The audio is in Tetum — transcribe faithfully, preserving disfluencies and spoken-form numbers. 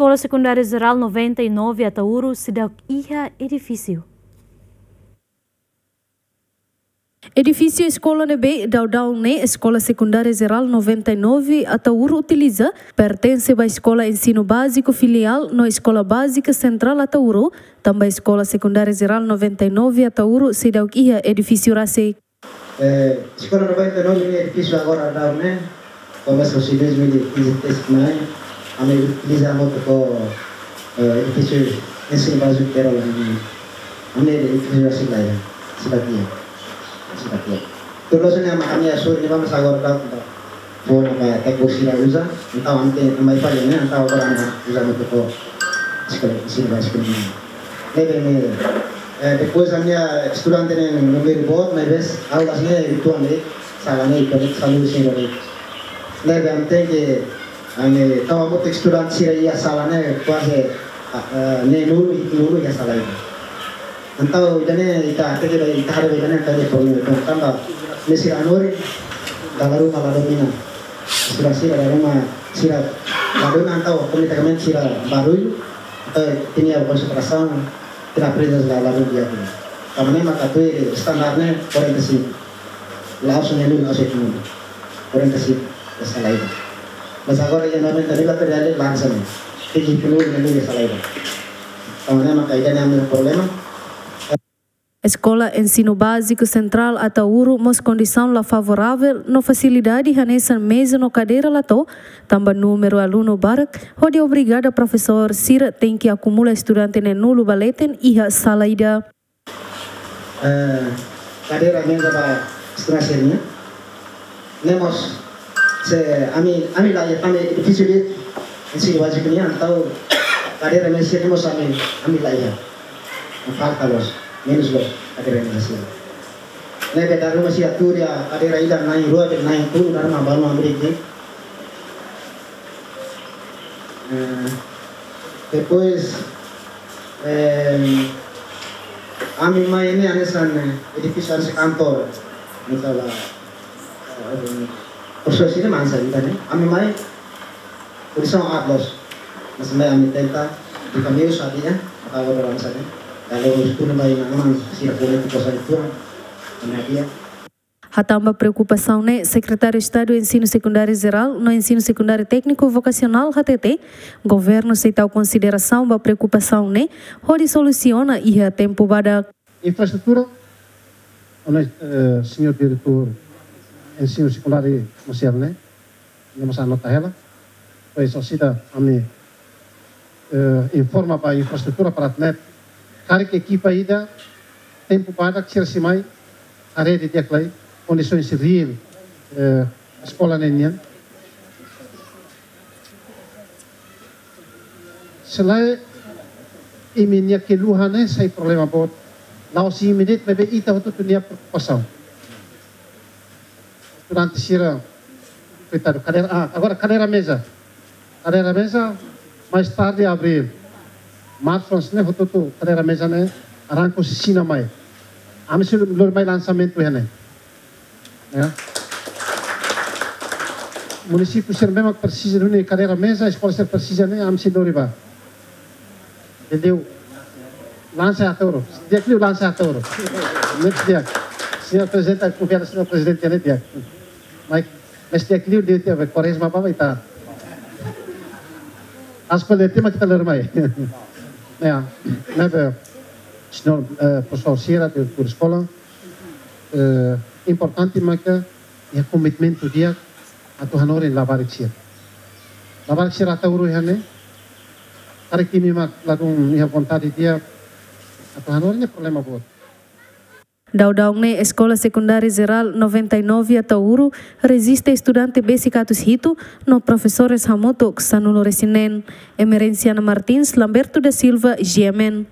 Eskola Sekundária Jerál noventa e nove Ataúro seidauk iha edifísiu. Edifísiu eskola ne'ebé daudaun ne'e Eskola Sekundária Jerál noventa e nove Ataúro utiliza, pertense ba Eskola Ensinu Báziku Filiál no Eskola Bázika Sentrál Ataúro, tanba Eskola Sekundária Jerál noventa e nove Ataúro seidauk iha edifísiu rasik. Eh, Eskola noventa e nove ne'e edifísiu agora daudaun ne'e, komesa husi dois mil e quinze tes mai, ami utiliza hamutuk ho, eh, edifísiu ensinu báziku Jerál ne'e, ami edifísiu rasik lai, seidauk iha, seidauk iha. Tuir loos ne'e ami, ami asur ni vamos agora daudaun, fó ona ba tékniku sira uza, entaun ami tenke, ami falla ne'e, entaun agora ami uza hamutuk ho eskola ensinu báziku ne'e. Ne'ebé ne'e, eh, depois ami-nia estudante ne'e númeru boot, maibé aulas ne'e uitoan de'it, sala ne'e uitoan de'it, sala ne'e uitoan de'it. Ne'ebé ami tenke, ami tau hamutuk estudante sira iha sala ne'e kuaze, ah, ah, neenulu, hitunulu iha sala ida. Entaun ida-ne'e ita hateke ba, ita haree ba ida-ne'e entaun iha problema ida, tanba ne'e sira hanorin, dala ruma la domina. Sira, sira dala ruma, sira la domina entaun automatikamente sira barullu, entaun ita-nia konsentrasaun, ita-nia aprende la, la domina. Tanba ne'e maka tuir standar ne'e quarenta e cinco. La'ós neenulu, la'ós hitunulu. Quarenta e cinco, iha sala ida. Mas agora iha noventa e nove atu realiza lansa ne'e. Tenke hitunulu, neenulu iha sala ida. Tanba ne'e maka ida-ne'e ami-nia problema. Eskola Ensinu Báziku Sentrál Ataúro mós kondisaun la favoravel no fasilidade hanesan meza no kadeira la to'o, tanba númeru alunu barak, hodi obriga profesór sira tenke akumula estudante neenulu ba leten iha sala ida. Eh, kadeira, meza ba estudante sira-nian. Ne'e mós, se ami, ami la iha, ami edifísiu ida ensinu báziku nian, entaun kadeira, meza sira-ne'e mós ami, ami la iha. Falta loos, menus loos kadeira, meza sira. Ne'ebé dala ruma sira tuur iha kadeira ida na'in rua, be na'in tolu, dala ruma balu amri ki. Eh, depois, eh, ami mai ne'e hanesan, eh, edifísiu hanesan kantor. Misalnya, eh, proses ini mana saja ne'e. Ami mai, kondisaun aat loos. Mas mai ami tenta, di kami usah dia, atau orang sana. Kalau harus pun mai nama, sira boleh kita saya kurang. Kami dia. Hatán ba preokupasaun ne'e, Sekretáriu Estadu Ensinu Sekundáriu Jerál no Ensinu Sekundáriu Tékniku Vokasionál hatete, governu sei tau konsiderasaun ba preokupasaun ne'e, hodi solusiona iha tempu badak. Infraestrutura, ona, eh, señór diretór Ensinu Sekundáriu Mosial ne'e, ne'e mós anota hela. Pois, orsida ami, eh, informa ba infraestrutura para ne'e, karik ekipa ida, tempu badak sira sei mai, haree didi'ak lai kondisaun reál, eh, eskola ne'e nian. Se lae, imi-nia keluhan ne'e sai problema boot. La'ós imi de'it, maibé ita hotu-hotu nia preokupasaun. Durante sira, koitadu, kadeira, ah, agora kadeira meza. Kadeira meza, mais tarde, abril. Março, ne'e hotu-hotu kadeira meza ne'e, arranka husi Xina mai. Ami sei lori mai lansamentu iha ne'e. Ya. Munisípiu sira memang presiza duni kadeira meza, eskola sira presiza ne'e, ami sei lori ba. Entendeu? Lansa Ataúro. Di'ak liu lansa Ataúro. Ne'e di'ak. Señór Prezidente, konfia señór Prezidente ne'e di'ak. Mas, mas di'ak liu, di'ak liu, Kuarezma bá, bá, ita. As coisas tema kita lori mai. Ya. Ne'ebé, señór, eh, profesór sira, diretór eskola, eh, importante maka iha komitmentu di'ak atu hanorin labarik sira. Labarik sira Ataúro iha ne'e, karik imi mak ladún iha vontade di'ak atu hanorin, ne'e problema boot. Daudaun ne'e Eskola Sekundária Jerál noventa e nove Ataúro rejista estudante besik atus hitu no profesores hamutuk sanulu-resin-neen. Emerenciana Martins, Lamberto da Silva, G M N.